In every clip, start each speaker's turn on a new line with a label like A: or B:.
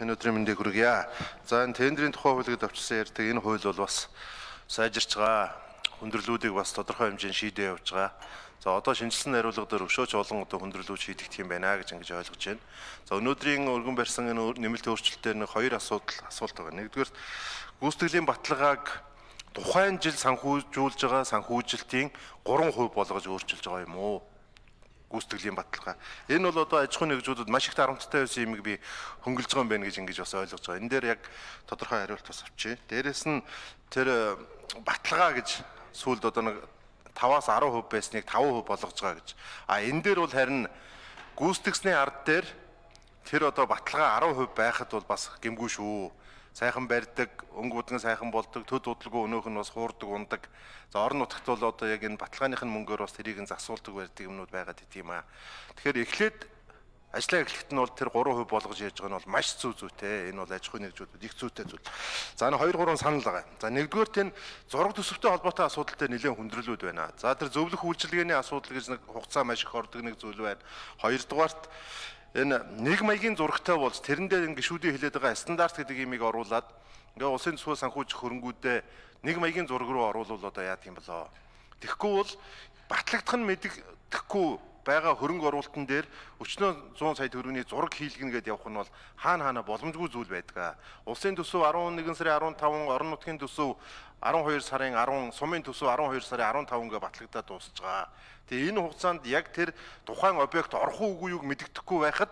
A: Энэ өдрийн мэндийг хүргье. За энэ тендерийн тухай хуулийг давчсан ярьдаг энэ хууль бол бас сайжирч байгаа. Хүндрэлүүдийг бас тодорхой хэмжээнд шийдээ явж байгаа. За одоо шинжилсэн хариулга дээр өшөөч олон одоо хүндрэлүүд шийдэгдэх юм байна гэж ингэж ойлгож байна. За өнөөдрийн өргөн барьсан энэ нэмэлт өөрчлөлтөөр нэг хоёр асуулт байгаа. Нэгдүгээр гүйцэтгэлийн баталгааг тухайн жил санхүүжүүлж байгаа санхүүжилтийн 3% болгож өөрчилж байгаа юм уу? Гүйцэтгэлийн баталгаа. Энэ бол одоо аж ахуйн нэгжүүдэд маш их дарамттай байсан юмыг би хөнгөлж байгаа юм байна гэж ингэж бас ойлгож байгаа. Энэ дээр яг тодорхой хариулт бас авчи. Дээрээс нь тэр баталгаа гэж сүүлд одоо нэг 5-аас 10% байсныг 5% болгож байгаа гэж. Энэ дээр бол харин гүйцэтгсний ард дээр тэр одоо баталгаа 10% байхад бол бас гэмгүй шүү. Сайхан барьдаг, өнгө будган сайхан болдог, төд удалгүй өнөөх нь бас хуурдаг, ундаг. За орон нутагт бол одоо яг энэ баталгааныхын мөнгөөр бас тэрийг нь засуулдаг байдаг юмнууд байгаад ит юм аа. Тэгэхээр эхлээд ажлаа эхлэхэд нь бол тэр 3% болгож ярьж байгаа нь бол маш зүйтэй. Энэ бол аж ахуйн нэгжүүдэд их зүйтэй зүйл. За энэ 2-3 санал байгаа. За нэгдүгээр тэн зураг төсөвтэй холбоотой асуудал дээр нэлээд хүндрэлүүд байна. За тэр зөвлөх үйлчилгээний асуудал гэж нэг хугацаа маш их ордог нэг зүйл байна. Хоёрдугаарт энэ нэг маягийн зурагтай болж тэрэн дээр ингэ гişүүдийн хэлээд байгаа стандарт гэдэг имийг оруулаад ингээ улсын төсвөө санхүүжих хөрөнгүүдээ нэг маягийн зураг руу оруулвал одоо яадаг юм болоо. Тэгэхгүй бол батлагдах нь мэддэхгүй байгаа хөрөнгө оруулалтан дээр өчнөө 100 сая төгрөгийн зураг хийлгэнэ гэдээ явах нь бол хаана боломжгүй зүйл байдаг. Улсын төсөв 11 сарын 15, орон нутгийн төсөв 12 сарын 10, сумын төсөв 12 сарын 15 гээ батлагдаад дуусж байгаа. Тэгээ энэ хугацаанд яг тэр тухайн объект орох уугүй юуг мэддэхгүй байхад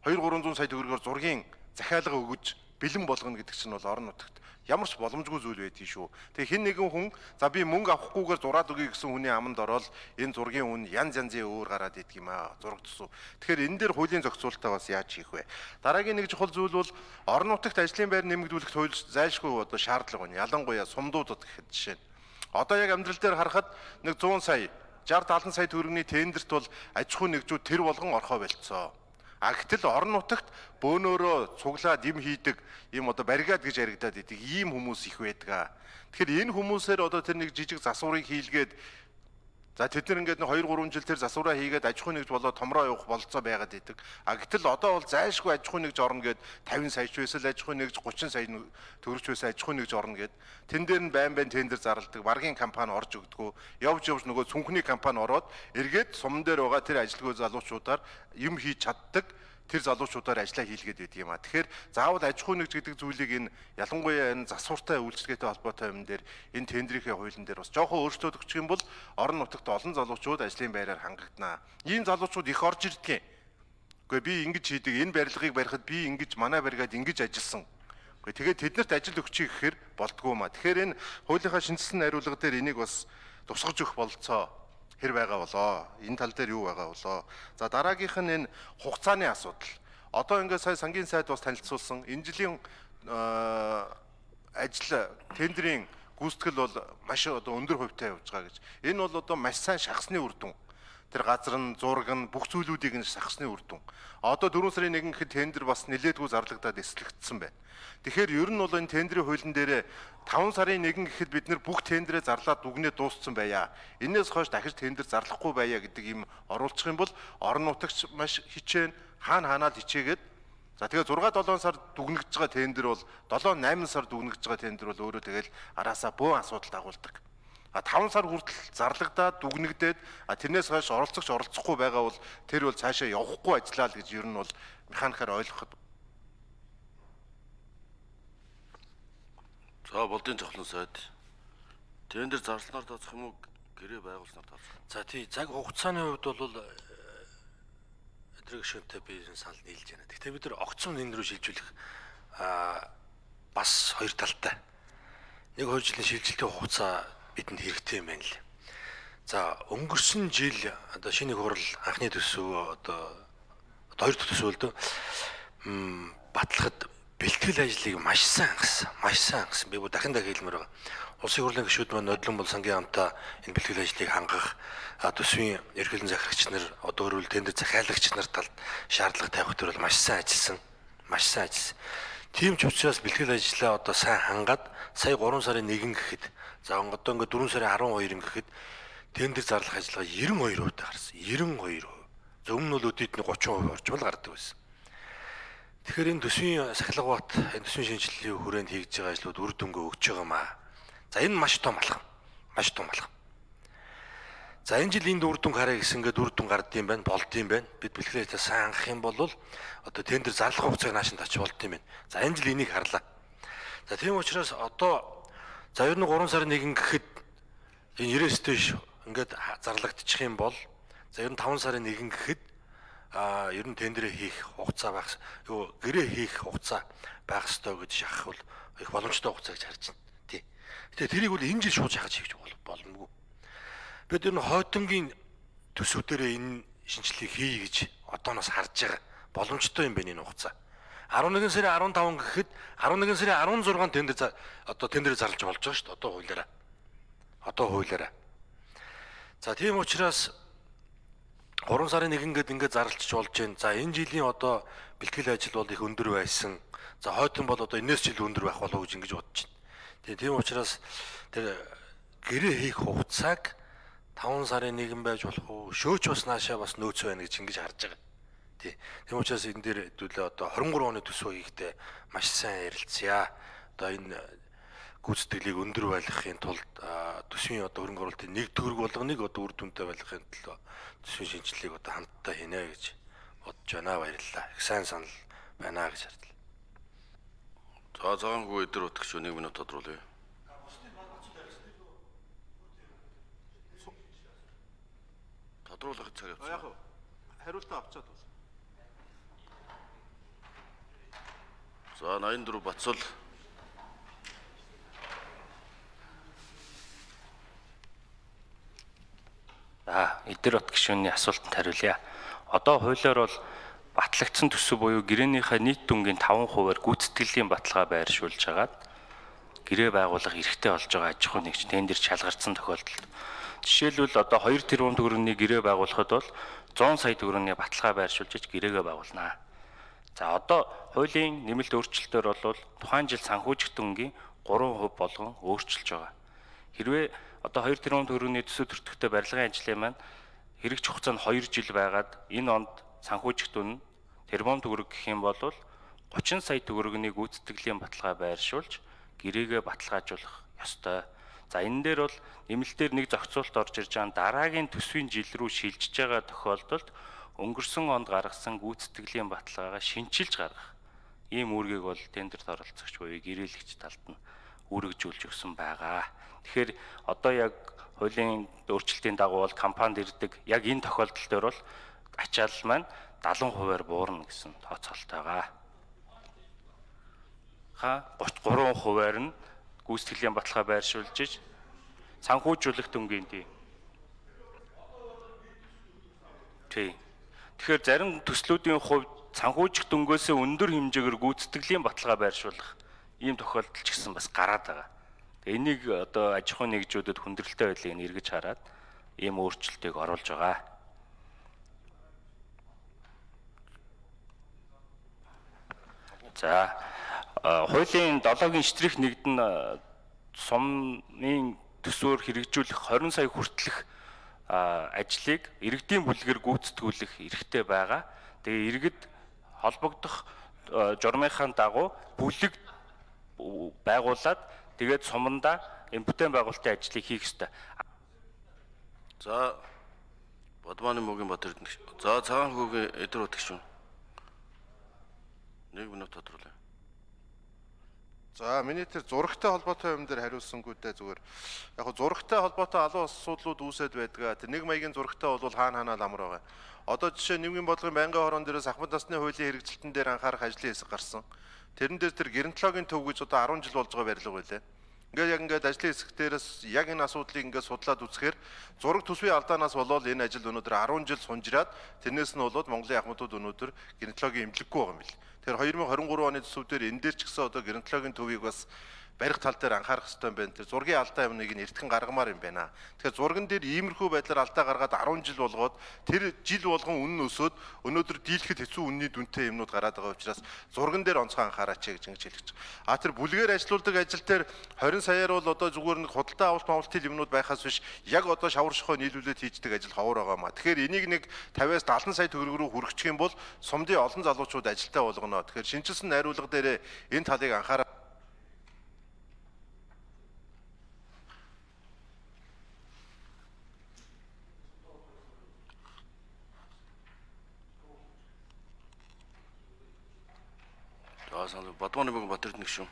A: 2-300 сая төгрөгөөр зургийн захиалга өгөж бэлэн болгоно гэдэг чинь бол орон нутагт ямар ч боломжгүй зүйл байдгийг шүү. Тэгээ хэн нэгэн хүн за би мөнгө авахгүйгээр зураад өгье гэсэн хүний аманд ороод энэ зургийн үн янз янзын өөр гараад идэг юм аа. Зураг төсөв. Тэгэхээр энэ дээр хуулийн зохицуулалтаа бас яаж хийх вэ? Дараагийн нэг чухал зүйл бол орон нутагт ажлын байр нэмэгдүүлэх хууль зайлшгүй одоо шаардлага байна. Ялангуяа сумдуудад гэхэд жишээ нь. Одоо яг амьдрал дээр харахад нэг 100 сая 60-70 сая төгрөгийн тендерт бол аж ахуйн нэгжүүд тэр болгон орхоо болцсон. Гэтэл орон нутагт бөөнөөрөө цуглаад им хийдэг ийм одоо баррикад гэж яригадаад идэг ийм хүмүүс их байдаг. Тэгэхээр энэ хүмүүсээр одоо тэр нэг жижиг засварыг хийлгээд за тэд нар ингээд 2-3 жил тэр засвараа хийгээд аж ахуйн нэгж болоод томроо явах болцоо байгаад идэг. Гэтэл одоо бол зайлшгүй аж ахуйн нэгж орно гэд 50 сая ч байсан аж ахуйн нэгж 30 сая төгрөж байсан аж ахуйн нэгж орно гэд тэн дээр нь байн тендер зарладаг баргийн компани орж өгдөггүй. Явж нөгөө цүнхний компани ороод эргээд суман дээр байгаа тэр ажилтгүй залуучуудаар юм хийж чаддаг тэр залуучуудаар ажиллаа хийлгээд байдаг юм аа. Тэгэхээр заавал аж ахуйн нэгж гэдэг зүйлийг энэ ялангуяа энэ засвартай үйлчлэгээтэй холбоотой юм дээр энэ тендерийн хуулийн дээр бас жоохон өөрчлөлт өгчих юм бол орон нутагт олон залуучууд ажлын байраар хангагдана. Ийм залуучууд их орж ирдэг. Гэхдээ би ингэж хийдэг энэ барилгыг барихад би ингэж манай баригад ингэж ажилласан. Тэгээд тэднэрт ажил өгчих гэхээр болдгоо маа. Тэгэхээр энэ хуулийнхаа шинжилсэн хариулга дээр энийг бас тусгаж өгөх бололцоо хэр байгаа болоо. Энэ тал дээр юу байгаа болоо. За дараагийнх нь энэ хугацааны асуудал. Одоо ингээд сая сангийн сайд бас танилцуулсан энэ жилийн ажил тендерийн гүйцэтгэл бол маш одоо өндөр хувьтай явж байгаа гэж. Энэ бол одоо маш сайн шахсны үр дүн. Тэр газар нь зураг нь бүх зүйлүүдийг нь шахсны үр дүн. Одоо 4 сарын 1 гэхэд тендер бас нэлээдгүй зарлагдаад эслэгдсэн байна. Тэгэхээр ер нь бол энэ тендерийн хуулийн дээр 5 сарын 1 гэхэд бид нэр бүх тендерээ зарлаад дүгнээ дууссан байя. Энээс хойш дахиж тендер зарлахгүй байя гэдэг юм оруулчих юм бол орон нутагч маш хичээн хаанаад хичээгээд за тэгээ 6-7 сар дүгнэгдэж байгаа тендер бол 7-8 сар дүгнэгдэж байгаа тендер бол өөрөө тэгэл араасаа бөөн асуудал дагуулдаг. 5 сар хүртэл зарлагдаад дүгнэгдээд тэрнээс хойш оролцохгүй байгаа бол тэр бол цаашаа явахгүй ажиллаа л гэж ер нь бол механикаар ойлгоход.
B: За болдын цохлон сайд тендер зарснаар тооцох юм уу гэрээ байгуулснаар тооцох.
C: За тий цаг хугацааны хувьд бол өдрөг шөнтэй би санал нийлж байна. Гэхдээ бид нар огцом энэ рүү шилжүүлэх бас хоёр талтай. 1-2 жилийн шилжилтийн хугацаа бидэнд хэрэгтэй юм байна л. За өнгөрсөн жил одоо шинэ хурал анхны төсөв одоо хоёр дахь төсөв л дөө батлахад бэлтгэл ажлыг маш сайн хангасан. Би дахин хэлмээр байгаа. Улсын хурлын гишүүд маань нодлон бол сангийн хамтаа энэ бэлтгэл ажлыг хангах төсвийн ерөнхийлөн захирагч нар одоо өөрөөр тендер захиалагч нар талд шаардлага тавих төр бол маш сайн ажилласан. Тийм ч учраас бэлтгэл ажлаа одоо сайн хангаад сая 3 сарын 1 гэхэд за одоо ингээд 4 сарын 12 гэхэд тендер зарлах ажиллагаа 92% гарсан. 92%. За өмнө нь бол өдөрт нь 30% орчмол гардаг байсан. Тэгэхээр энэ төсвийн сахилгаваат энэ төсвийн шинжилгээний хүрээнд хийж байгаа ажлууд үр дүнгээ өгч байгаа маа. За энэ маш том алхам. Маш том алхам. За энэ жил энд үр дүн харъя гэсэнгээд үр дүн гардыг байна, болдсон байна. Бид бэлгэлээ сайн анхах юм бол одоо тендер зарлах хугацааг наашин тач болдсон байна. За энэ жил энийг харлаа. За тийм учраас одоо за ер нь 3 сарын 1 гэхэд энэ 90 стэйш ингээд зарлагдчих юм бол за ер нь 5 сарын 1 гэхэд ер нь тендерээ хийх хугацаа байх гэрээ хийх хугацаа байх ёстой гэж шахах бол их боломжтой хугацаа гэж харж байна. Тий. Гэтэ тэрийг бол энэ жил шууд шахаж хийж боломгүй. Бид ер нь хойтонгийн төсвүүдээр энэ шинжилгээг хий гэж одооноос харж байгаа боломжтой юм байна энэ хугацаа. 11 сарын 15 гэхэд 11 сарын 16 тендер одоо тендерээ зарлаж болж байгаа шүү дээ. Одоо хуулиараа. За тийм учраас 3 сарын 1 ингээд зарлчих болж байна. За энэ жилийн одоо бэлтгэл ажил бол их өндөр байсан. За хойтон бол одоо энэс жил өндөр байх болов уу гэж ингэж бодож байна. Тийм учраас тэр гэрээ хийх хугацааг 5 сарын 1 байж болох уу? Шөөч бас наашаа бас нөөц байна гэж ингэж харж байгаа. Тийм учраас энэ дээр хэдүүлээ одоо 23 оны төсвөө хийхдээ маш сайн ярилцъя. Одоо энэ гүйцэтгэлийг өндөр байлгахын тулд төсвийн одоо хөрөнгө оруулалтын нэг төгрөг болгоныг одоо үр дүнтэй байлгахын тулд төсвийн шинжилгээг одоо хамтдаа хийнэ гэж бодож байна. Баярлалаа. Их сайн санал байна гэж хардлаа.
B: За цагаангүй эдэр утгч 1 минут тодруулъя. Тодруулах цаг явуулсан.
A: Яг хариултаа авчаад бол.
B: За 84 Бацал.
D: Эдэр бат гишүүний асуултанд хариулъя. Одоо хуулиар бол батлагдсан төсөв буюу гэрээнийхээ нийт дүнгийн 5%-аар гүйцэтгэлийн баталгаа байршуулж хагаад гэрээ байгуулах эрхтэй болж байгаа аж ахуй нэгж тендер шалгардсан тохиолдолд жишээлбэл одоо 2 тэрбум төгрөгийн гэрээ байгуулахад бол 100 сая төгрөгийн баталгаа байршуулж гэрээгээ байгуулнаа. За одоо хуулийн нэмэлт өөрчлөлтөөр бол тухайн жил санхүүжих дүнгийн 3% болгон өөрчилж байгаа. Хэрвээ одоо 2 тэрбум төгрөгийн төсөв төртөгтэй барилгын ажлын маань хэрэгж хугацаа нь 2 жил байгаад энэ онд санхүүжих дүн тэрбум төгрөг гэх юм бол 30 сая төгрөгийн гүйцэтгэлийн баталгаа байршуулж гэрээгээ баталгаажуулах ёстой. За энэ дээр бол нэмэлтээр нэг зохицуулт орж ирж байгаа дараагийн төсвийн жил рүү шилжиж байгаа тохиолдолд өнгөрсөн онд гаргасан гүйцэтгэлийн баталгаагаа шинчилж гаргах ийм үүргийг бол тендерт оролцогч буюу гэрээлэгч талд нь үүргэжүүлж өгсөн байгаа. Тэгэхээр одоо яг хуулийн өөрчлөлтийн дагуу бол компанид ирдэг яг энэ тохиолдол дээр бол ачаалал маань 70%-аар буурна гэсэн тооцоолтойгаа. 33%-аар нь гүйцэтгэлийн баталгаа байршуулж санхүүжүүлэх дүнгийн тий. Тэгэхээр зарим төслүүдийн хувьд санхүүжих дүнгөөсөө өндөр хэмжээгээр гүйцэтгэлийн баталгаа байршуулах ийм тохиолдол ч гэсэн бас гараад байгаа. Энийг одоо аж ахуйн нэгжүүдэд хүндрэлтэй байдлыг эргэж хараад ийм өөрчлөлтийг оруулж байгаа. За хуулийн 7-гийн штрих 1-д нь сумын төсвөөр хэрэгжүүлэх 20 сая хүртэлх ажлыг иргэдийн бүлгээр гүйцэтгүүлэх эрхтэй байгаа. Тэгээ иргэд холбогдох журмынхаа дагуу бүлэг байгуулад тэгээд сумандаа энэ бүтээн байгуулалтын ажлыг хийх ёстой.
B: За Бадманы мөгийн Батэрд. За цагаан хүүгийн эдэр утгч шүү. 1 минут тодруулъя.
A: За миний тэр зурагтай холбоотой юм дээр хариулсангүй дээ зүгээр. Яг го зурагтай холбоотой алуун асуудлууд үүсэт байдгаа. Тэр нэг маягийн зурагтай бол хаана ламар байгаа. Одоо жишээ нийгмийн бодлогын байнгын хорон дээрээс ахмад насны хуулийн хэрэгжилтэн дээр анхаарах ажлын хэсэг гарсан. Тэрэн дээр тэр геронтологийн төв гэж одоо 10 жил болж байгаа барилга байлаа. Ингээд ажлын хэсэг дээрээс яг энэ асуудлыг ингээд судлаад үзэхээр зураг төсвийн алдаанаас болоод энэ ажил өнөөдөр 10 жил сунжираад тэрнээс нь болоод Монголын ахмадууд өнөөдөр геронтологийн эмнэлэггүй байгаа юм бил. Тэгэхээр 2023 оны төсөв дээр энэ дээр ч гэсэн одоо геронтологийн төвийг бас барих тал дээр анхаарах хэрэгтэй юм байна. Тэр зургийн алдаа юмныг нь эртхэн гаргамаар юм байна. Тэгэхээр зурган дээр иймэрхүү байдлаар алдаа гаргаад 10 жил болгоод тэр жил болгон үнэн өсөөд өнөөдөр дийлэхэд хэцүү үнний дүнтэй юмнууд гараад байгаа учраас зурган дээр онцгой анхаараач гэж ингэж хэлж байгаа. Тэр бүлгээр ажилуулдаг ажил дээр 20 саяар бол одоо зүгээр нэг худалдаа авалт мавлтын юмнууд байхаас биш яг одоо шавар шохоо нийлүүлээд хийждэг ажил ховор байгаа маа. Тэгэхээр энийг нэг 50-аас 70 сая төгрөг рүү хүргэх юм бол сумдын олон залуучууд ажилтаа болгоно. Тэгэхээр шинжилсэн найруулга дээр энэ талыг анхаараа.
B: Бадманы бүгд Батэрд нэг шүү.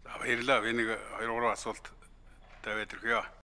E: За баярлалаа. Би нэг 2-3 асуулт тавиад ирхээ.